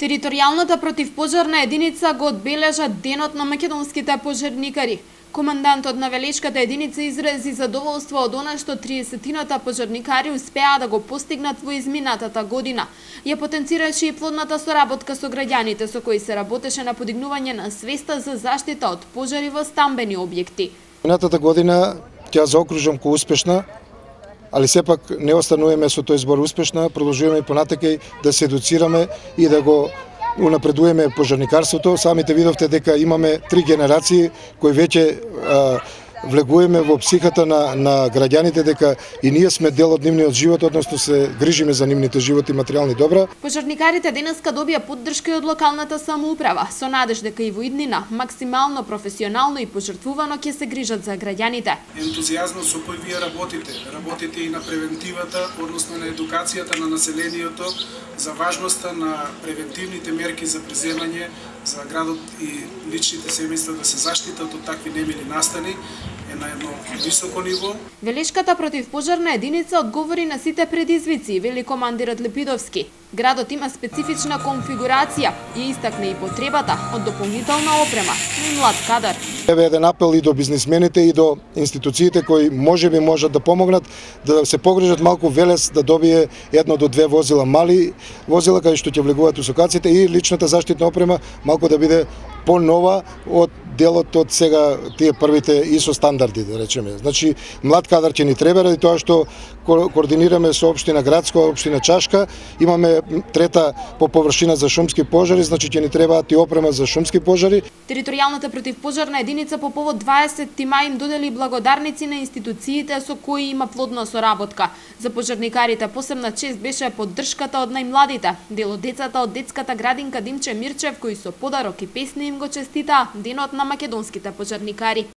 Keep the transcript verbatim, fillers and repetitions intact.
Територијалната противпожарна единица го одбележа Денот на македонските пожарникари. Командантот на Велешката единица изрази задоволство од она што триесеттината пожарникари успеа да го постигнат во изминатата година. Ја потенцираше и плодната соработка со граѓаните со кои се работеше на подигнување на свеста за заштита од пожари во стамбени објекти. Минатата година ќе заокружам ко успешна, али сепак не остануваме со тој збор успешна, продолжуваме и понатака да се едуцираме и да го унапредуваме пожарникарството. Самите видовте дека имаме три генерации кои веќе а, влегуваме во психата на, на граѓаните дека и ние сме дел од нивниот живот, односно се грижиме за нивните животи и материјални добра. Пожарникарите денеска добија поддршка и од локалната самоуправа, со надеж дека и во иднина максимално професионално и пожртвувано ќе се грижат за граѓаните. Ентузијазмот со кој вие работите, работите и на превентивата, односно на едукацијата на населението за важноста на превентивните мерки за преземање за градот и личните семејства да се заштитат од такви немили настани е на едно високо ниво. Велешката противпожарна единица одговори на сите предизвици, вели командирот Лепидовски. Градот има специфична конфигурација и истакне и потребата од дополнителна опрема и млад кадар. Еве еден апел и до бизнисмените и до институциите кои можеби можат да помогнат да се погрижат малку Велес да добие едно до две возила, мали возила кај што ќе влегуваат усокаците и личната заштитна опрема малку да биде понова од делот од сега тие првите ИСО стандарди, да речеме. Значи, млад кадар ќе ни треба, ради тоа што координираме со општина Градска, општина Чашка, имаме трета по површина за шумски пожари, значи ќе ни требаат и опрема за шумски пожари. Територијалната противпожарна единица по повод дваесетти мај им додели благодарници на институциите со кои има плодна соработка. За пожарникарите посебна чест беше поддршката од најмладите, дел од децата од детската градинка Димче Мирчев, кои со подарок и песни им го честитаа Денот на македонските пожарникари.